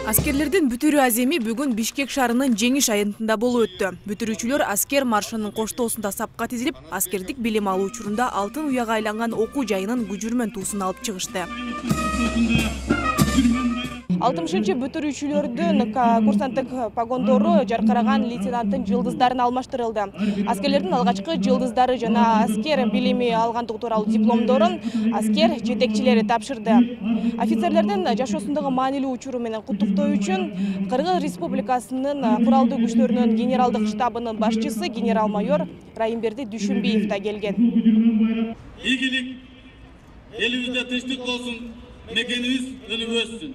Аскерлердин бүтүрүү аземи бүгүн Бишкек шаарынын Жеңиш аянтында болуп өттү. Бүтүрүүчүлөр аскер маршынын коштоосунда сапка тизилип, аскердик билим алуу учурунда алтын уяга айланган окуу жайынын күжүрмөн туусун алып чыгышты. 60-чы бүтүрүүчүлөрдүн курсанттык погондору жаркыраган лейтенанттын жылдыздарын алмаштырылды. Аскерлердин алгачкы жылдыздары жана аскер билими алгандыгы тууралуу дипломдорун аскер жетекчилери тапшырды. Офицерлердин жашоосундагы маанилүү учуру менен куттуктоо үчүн Кыргыз Республикасынын куралдуу күчтөрүнүн генералдык штабынын башчысы генерал-майор Райымберди Дүйшүнбиев да келген. Ийгилик элибизде тынчтык болсун.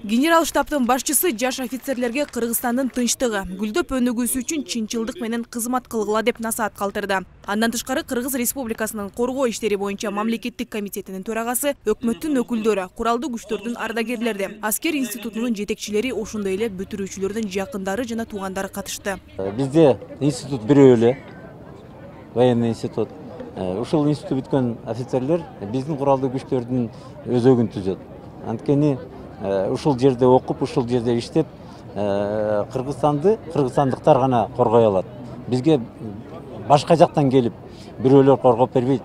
Генерал штабтын башчысы жаш офицерлерге Кыргызстандын тынчтыгы, гүлдөп өнүгүүсү үчүн чынчылдык менен кызмат кылгыла деп насаат калтырды. Андан тышкары Кыргыз Республикасынын коргоо иштери боюнча мамлекеттик комитетинин төрагасы, өкмөттүн өкүлдөрү, куралдуу күчтөрдүн ардагерлери, аскер институтунун жетекчилери, ошондой эле бүтүрүүчүлөрдүн жакындары жана туугандары катышты. Бизде институт бирөө эле, военный институт. Ушул институт бүткөн офицерлер биздин куралдуу күчтөрдүн өзөгүн түзөт. Анткени ушул жерде окуп, ушул жерде иштеп, кыргызстандыктар гана коргой алат. Бизге башка жактан келип, бирөөлөр коргоп бербейт.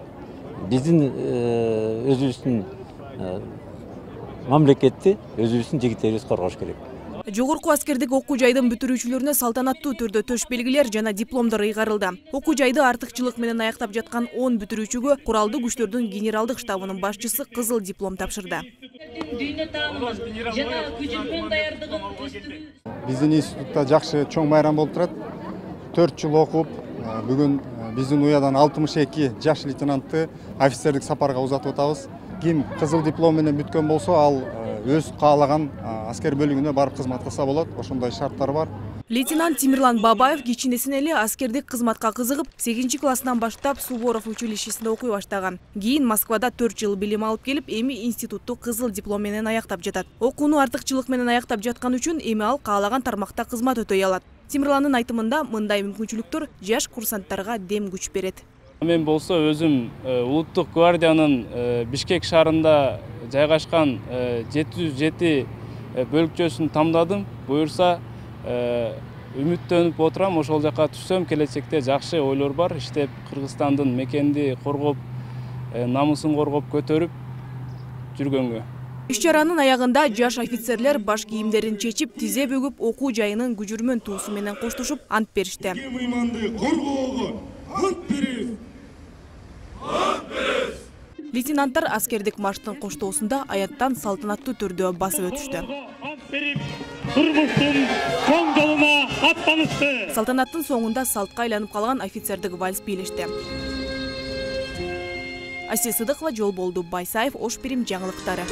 Биздин өзүбүздүн мамлекетти, өзүбүздүн жигиттерибиз коргош керек. Жогорку аскердик окуу жайдын бүтүрүүчүлөрүнө салтанаттуу түрдө төш белгилер жана дипломдор ыйгарылды. Окуу жайды артыкчылык менен аяктап жаткан 10 бүтүрүүчүгө куралдуу күчтөрдүн генералдык штабынын башчысы кызыл диплом тапшырды. Биздин институтта жакшы чоң байрам болуп турат. 4 жыл окуп, бүгүн биздин уядан 62 жаш лейтенантты офицердик сапарга узатып атабыз. Ким кызыл диплом менен бүткөн болсо, ал өз каалаган аскер бөлүгүнө барып кызмат кылса болот. Ошондой шарттар бар. Лейтенант Тимирлан Бабаев кичинесинен эле аскердик кызматка кызыгып, 8-класстан баштап Суворов училищесинде окуй баштаган. Кийин Москвада 4 жыл билим алып келип, эми институтту кызыл диплом менен аяктап жатат. Окууну артыкчылык менен аяктап жаткан үчүн эми ал каалаган тармакта кызмат өтөй алат. Тимирландын айтымында мындай мүмкүнчүлүктөр жаш курсанттарга дем күч берет. Мен болсо өзүм улуттук гвардиянын Бишкек шаарында жайгашкан 707 бөлүкчөсүн тамдадым. Буюрса үмүттөнүп отурам, ошол жака түшсөм келечекте жакшы ойлор бар. Иштеп Кыргызстандын мекенди коргоп, намысын коргоп көтөрүп жүргөнгө. Иш-чаранын аягында жаш офицерлер баш кийимдерин чечип, тизе бөгүп окуу жайынын күжүрмөн туусу менен коштошуп ант беришти. Лейтенанттар аскердик марштын коштоосунда аяттан салтанаттуу түрдө басып өтүштү. Салтанаттын соңунда салтка айланып калган офицердик вальс бийлешти. Асия Сыдыкова, Жолболду Байсаев, Ош Бирим жаңылыктары.